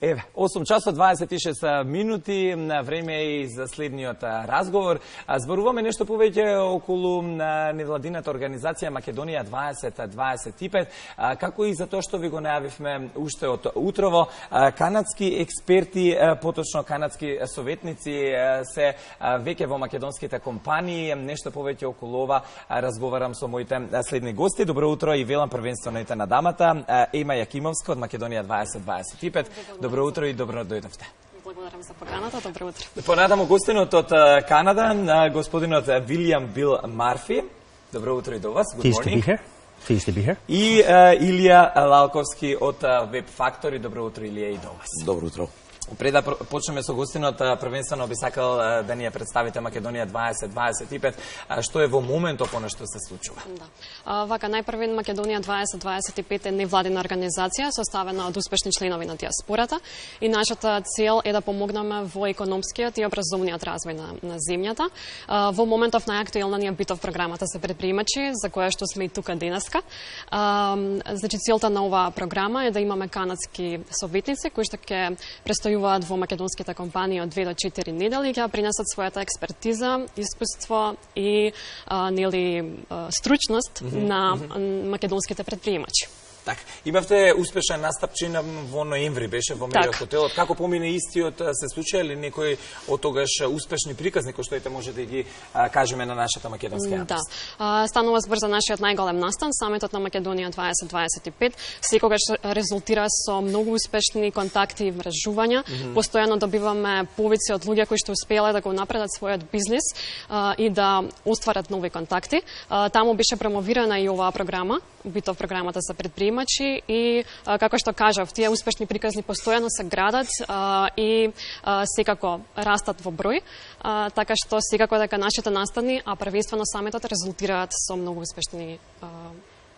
Еве, 8 часот 26 минути, време е и за следниот разговор. Зборуваме нешто повеќе околу невладината организација Македонија 2025, како и за тоа што ви го најавивме уште од утрово. Канадски експерти, поточно канадски советници се веќе во македонските компании. Нешто повеќе околу ова разговарам со моите следни гости. Добро утро и велам првенствено на дамата. Ема Јакимовска од Македонија 2025. Добро утро и добро дојдовте. Благодарам за поканата, добро утро. Понатаму гостинот од Канада, господинот Вилијам Бил Марфи. Добро утро и до вас. Good morning. Pleased to be here. И Илија Лалковски од Web Factory. Добро утро, Илија, и до вас. Добро утро. Пред да почнеме со гостинот, првенствено би сакал да ни ја представите Македонија 2025, што е во моментот она што се случува. Да. Вака, најпрвен Македонија 2025 е невладина организација составена од успешни членови на диаспората и нашата цел е да помогнеме во економскиот и образовниот развој на земјата. Во моментов најактуелна ни е битов програмата за предприемачи, за која што сме и тука денеска. Значи, целта на оваа програма е да имаме канадски советници кои што ќе престојуваат во македонските компании од 2 до 4 недели, ќе принесат својата експертиза, искуство и стручност на македонските предприемачи. Така, имавте успешен настапчин во ноември, беше во Мериот хотелот. Како помине истиот, се случија ли некои од тогаш успешни приказни кои што може да ги кажеме на нашата македонска јавност? Да. Станува збор за нашиот најголем настан, самитот на Македонија 2025, секогаш резултира со многу успешни контакти и вржувања. Постојано добиваме повици од луѓе кои што успеале да го напредат својот бизнис и да остварат нови контакти. Таму беше промовирана и оваа програма, битов програмата за предприемачи и како што кажав, тие успешни приказни постојано се градат и секако растат во број, така што секако дека нашите настани, а првенствено самитот резултираат со многу успешни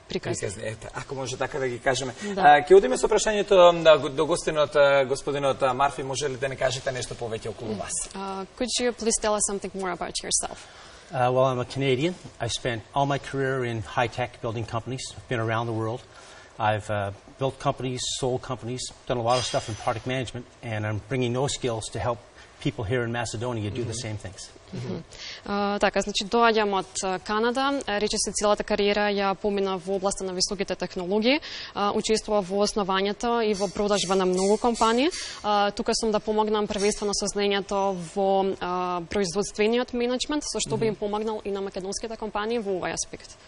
приказни. Ако може така да ги кажеме. Ќе одиме со прашањето до гостинот, господинот Марфи, може ли да не кажете нешто повеќе околу вас? Could you please tell us something more about yourself? Well, I'm a Canadian. I spent all my career in high-tech building companies. I've been around the world. I've built companies, sold companies, done a lot of stuff in product management, and I'm bringing those skills to help people here in Macedonia do the same things. Така, значи доаѓам од Канада, речиси целата кариера ја помина во областа на високите технологии, учествував во основањето и во продажба на многу компании. Тука сум да помогнам првенствено со знаењето во производствениот менеджмент, со што би им помогнал и на македонските компании во овој аспект.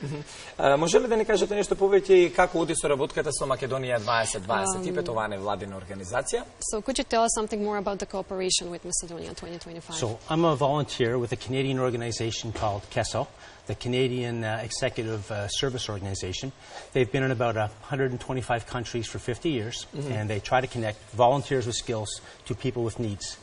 Може ли да ни кажете нешто повеќе и како оди соработката со Македонија 2025, оваа невладина организација? So could you tell us something more about the cooperation with Macedonia 2025? So I'm a volunteer with a Canadian organization called KESO, the Canadian Executive Service Organization. They've been in about 125 countries for 50 years, and they try to connect volunteers with skills to people with needs.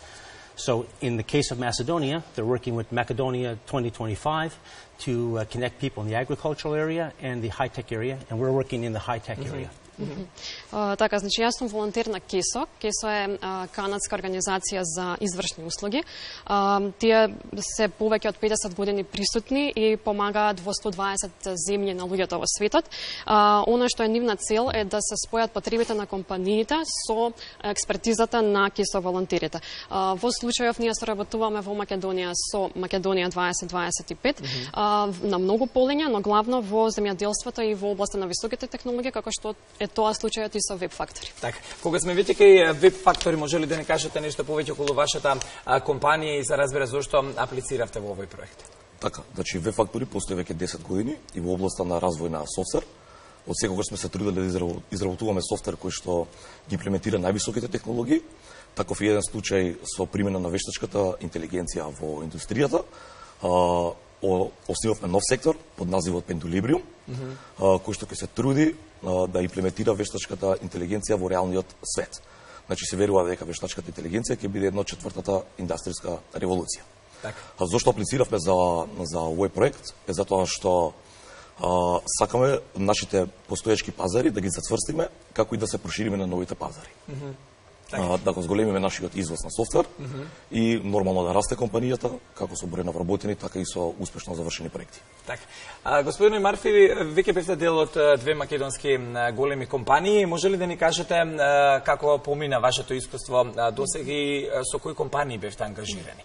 So in the case of Macedonia, they're working with Macedonia 2025 to connect people in the agricultural area and the high-tech area, and we're working in the high-tech area. Така, значи јас сум волонтер на КЕСО. КЕСО е канадска организација за извршни услуги. Тие се повеќе од 50 години присутни и помагаат во 120 земји на луѓето во светот. Она што е нивна цел е да се спојат потребите на компаниите со експертизата на КЕСО волонтерите. Во случајов ние соработуваме во Македонија со Македонија 2025 на многу полиња, но главно во земјоделството и во областа на високите технологии, како што е тоа случајот и со Web Factory. Така, кога сме веќе кај Web Factory, може ли да не кажете нешто повеќе околу вашата компанија и за разбира зошто аплициравте во овој проект? Така, значи Web Factory постои веќе 10 години и во областа на развој на софтвер. Од секогаш сме се трудели да изработуваме софтвер кој што ги имплементира највисоките технологии. Таков е еден случај со примена на вештачката интелигенција во индустријата. Основавме нов сектор под називот Pendulibриум, кој што ќе се труди да имплементира вештачката интелигенција во реалниот свет. Значи се верува дека вештачката интелигенција ќе биде 1/4 индустријска револуција. Зошто аплициравме за овој проект? Е затоа што сакаме нашите постоечки пазари да ги зацврстиме, како и да се прошириме на новите пазари. да го зголемиме нашиот извоз на софтвер и нормално да расте компанијата, како со број на вработени, така и со успешно завршени проекти. Така. Господине Марфи, веќе бевте дел од две македонски големи компании. Може ли да ни кажете како помина вашето искуство досега и со кои компании бевте ангажирани?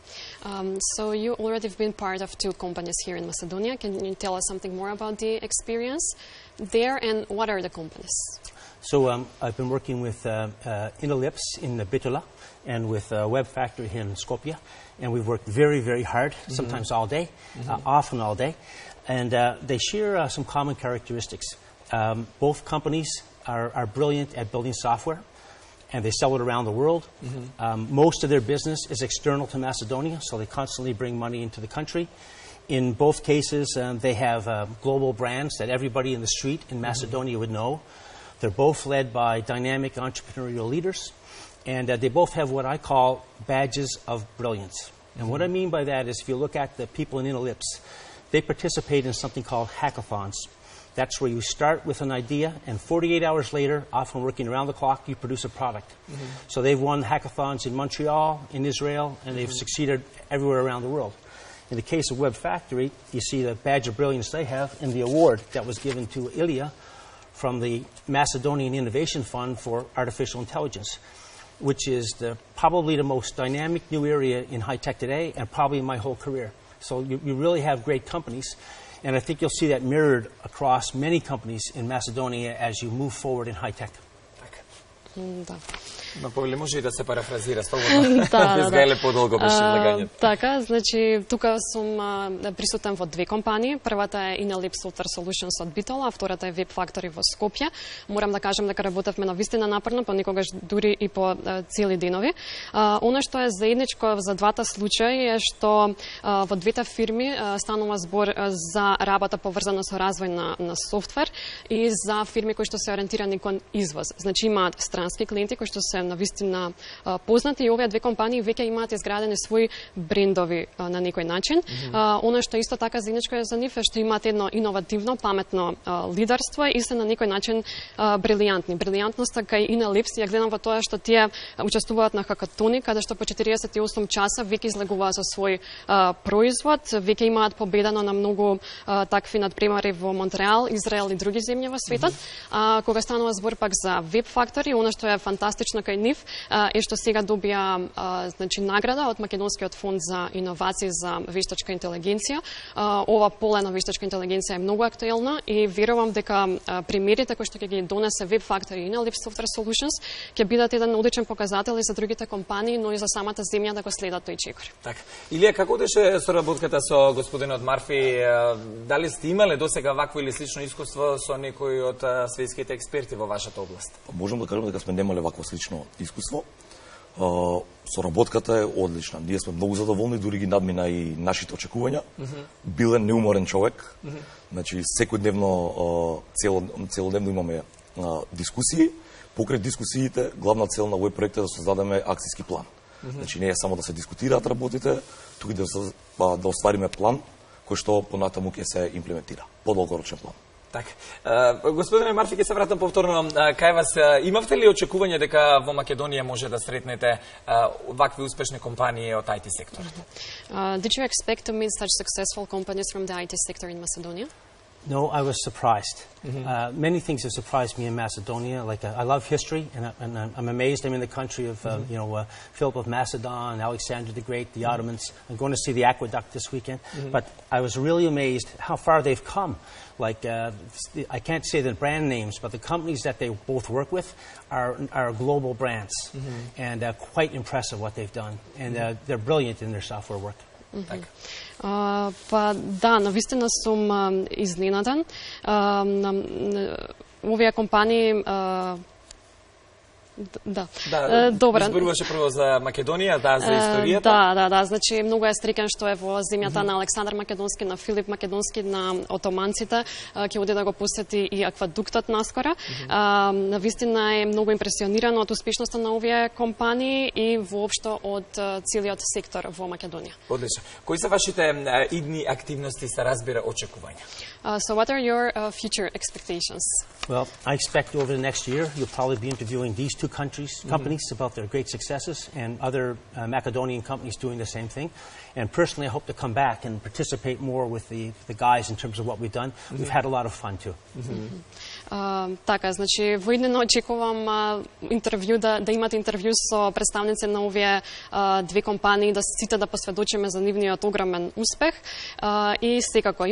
So you already have been part of two companies here in Macedonia. Can you tell us something more about the experience there and what are the companies? So I've been working with Inelips in Bitola and with Web Factory here in Skopje, and we've worked very, very hard, sometimes all day, often all day, and they share some common characteristics. Both companies are brilliant at building software, and they sell it around the world. Most of their business is external to Macedonia, so they constantly bring money into the country. In both cases, they have global brands that everybody in the street in Macedonia would know. They're both led by dynamic entrepreneurial leaders, and they both have what I call badges of brilliance. And what I mean by that is if you look at the people in Inelips, they participate in something called hackathons. That's where you start with an idea, and 48 hours later, often working around the clock, you produce a product. So they've won hackathons in Montreal, in Israel, and they've succeeded everywhere around the world. In the case of Web Factory, you see the badge of brilliance they have in the award that was given to Ilya from the Macedonian Innovation Fund for Artificial Intelligence, which is probably the most dynamic new area in high-tech today and probably in my whole career. So you really have great companies, and I think you'll see that mirrored across many companies in Macedonia as you move forward in high-tech. Но повели може и да се парафразира слободно. Без гајле подолго беше излагањето. Така, значи тука сум присутен во две компании. Првата е Inelips Software Solutions од Битола, а втората е Web Factory во Скопје. Морам да кажам дека работевме навистина напорно, понекогаш дури и по цели денови. Она што е заедничко за двата случаи е што во двете фирми станува збор за работа поврзана со развој на софтвер и за фирми кои што се ориентирани кон извоз. Значи имаат странски клиенти кои што се навистина познати и овие две компании веќе имаат изградени своји брендови на некој начин. Она што исто така заедничко е за нив е што имаат едно иновативно, паметно лидерство и се на некој начин брилијантни. Брилијантноста кај Inelips ја гледам во тоа што тие учествуваат на хакатони, каде што по 48 часа веќе излегуваат со свој производ, веќе имаат победано на многу такви надпремари во Монреал, Израел и други земји во светот. Кога станува збор пак за Web Factory, она што е фантастично кај нив е што сега добија значи награда од Македонскиот фонд за иновации за вештачка интелигенција. Ова поле на вештачка интелигенција е многу актуелна и верувам дека примерите кои што ќе ги донесе Web Factory и Inelips Software Solutions ќе бидат еден одличен показател и за другите компании, но и за самата земја да го следат тој чекор. Така. Илија, како беше соработката со господинот Марфи? Дали сте имале досега вакво или слично искуство со некои од светските експерти во вашата област? Можам да кажам дека сме немале вакво слично искуство. Соработката е одлична. Ние сме многу задоволни, дури ги надмина и нашите очекувања. Бил е неуморен човек. Значи секојдневно целодневно имаме дискусии. Покрај дискусиите, главна цел на овој проект е да создадеме акцијски план. Значи не е само да се дискутираат работите, туку и да оствариме план кој што понатаму ќе се имплементира. Подолгорочен план. Така. Господине Марфи, ќе се вратам повторно кај вас. Имавте ли очекување дека во Македонија може да сретнете вакви успешни компании од IT секторот? Did you expect to meet such successful companies from the IT sector in Macedonia? No, I was surprised. Many things have surprised me in Macedonia. Like I love history, and I'm amazed. I'm in the country of Philip of Macedon, Alexander the Great, the Ottomans. I'm going to see the aqueduct this weekend. But I was really amazed how far they've come. Like I can't say the brand names, but the companies that they both work with are global brands, and quite impressive what they've done. And they're brilliant in their software work. Па да, навистина сум изненадан. Овие компании Да. Добра. Зборуваше прво за Македонија, за историјата. Да, значи многу е среќен што е во земјата на Александар Македонски, на Филип Македонски, на отоманците, ќе оди да го посети и аквадуктот наскоро. Навистина е многу импресиониран од успешноста на овие компании и воопшто од целиот сектор во Македонија. Одлично. Кои се вашите идни активности, се разбира, очекувања? So what are your future expectations? Well, I expect over the next year you'll probably be interviewing these two two companies about their great successes and other Macedonian companies doing the same thing. And personally, I hope to come back and participate more with the guys in terms of what we've done. We've had a lot of fun too. Така, значи, во иднина очекувам интервју, да имате интервју со представници на овие две компании, да сите да посведочиме за нивниот огромен успех. И секако,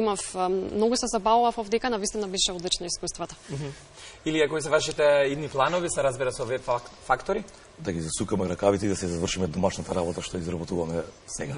многу се забавував овдека, навистина беше одлично искуството. Или кои се вашите идни планови, се разбира со овие фактори? Да ги засукаме ракавите и да се завршиме домашната работа што изработуваме сега.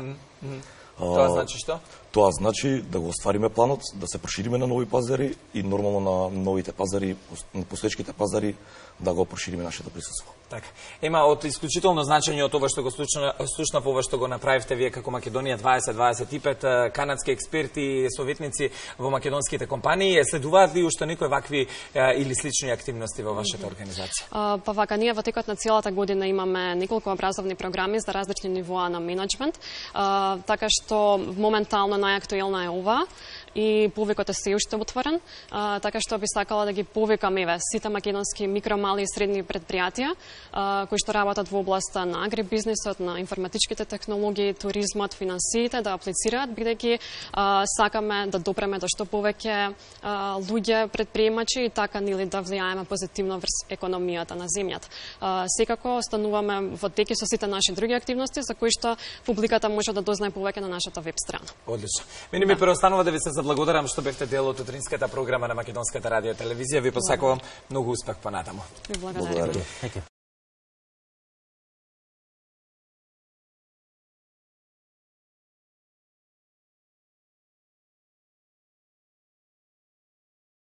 Тоа значи што? Тоа значи да го оствариме планот, да се прошириме на нови пазари и нормално на новите пазари, на постоечките пазари, да го прошириме нашето присуство. Така. Од исклучително значење од ова што го слушнав, ова што го направивте вие како Македонија 2025, канадски експерти и советници во македонските компании, следуваат ли уште некои вакви или слични активности во вашата организација? Па вака, ние во текот на целата година имаме неколку образовни програми за различни нивоа на менеджмент, така што моментално најактуелна е ова и повикот е се уште отворен, така што би сакала да ги повикам сите македонски микро, мали и средни предпријатија кои што работат во областа на агрибизнисот, на информатичките технологии, туризмот, финансиите да аплицираат, бидејќи сакаме да допреме до што повеќе луѓе предприемачи и така нели да влијаеме позитивно врз економијата на земјата. Секако остануваме во теки со сите наши други активности за кои што публиката може да дознае повеќе на нашата веб страна. Одлично. Мене ми преостанува да ви се заблагодарам што бевте дел од утринската програма на Македонската радио телевизија. Ви посакувам многу успех понатаму. Ви благодарам.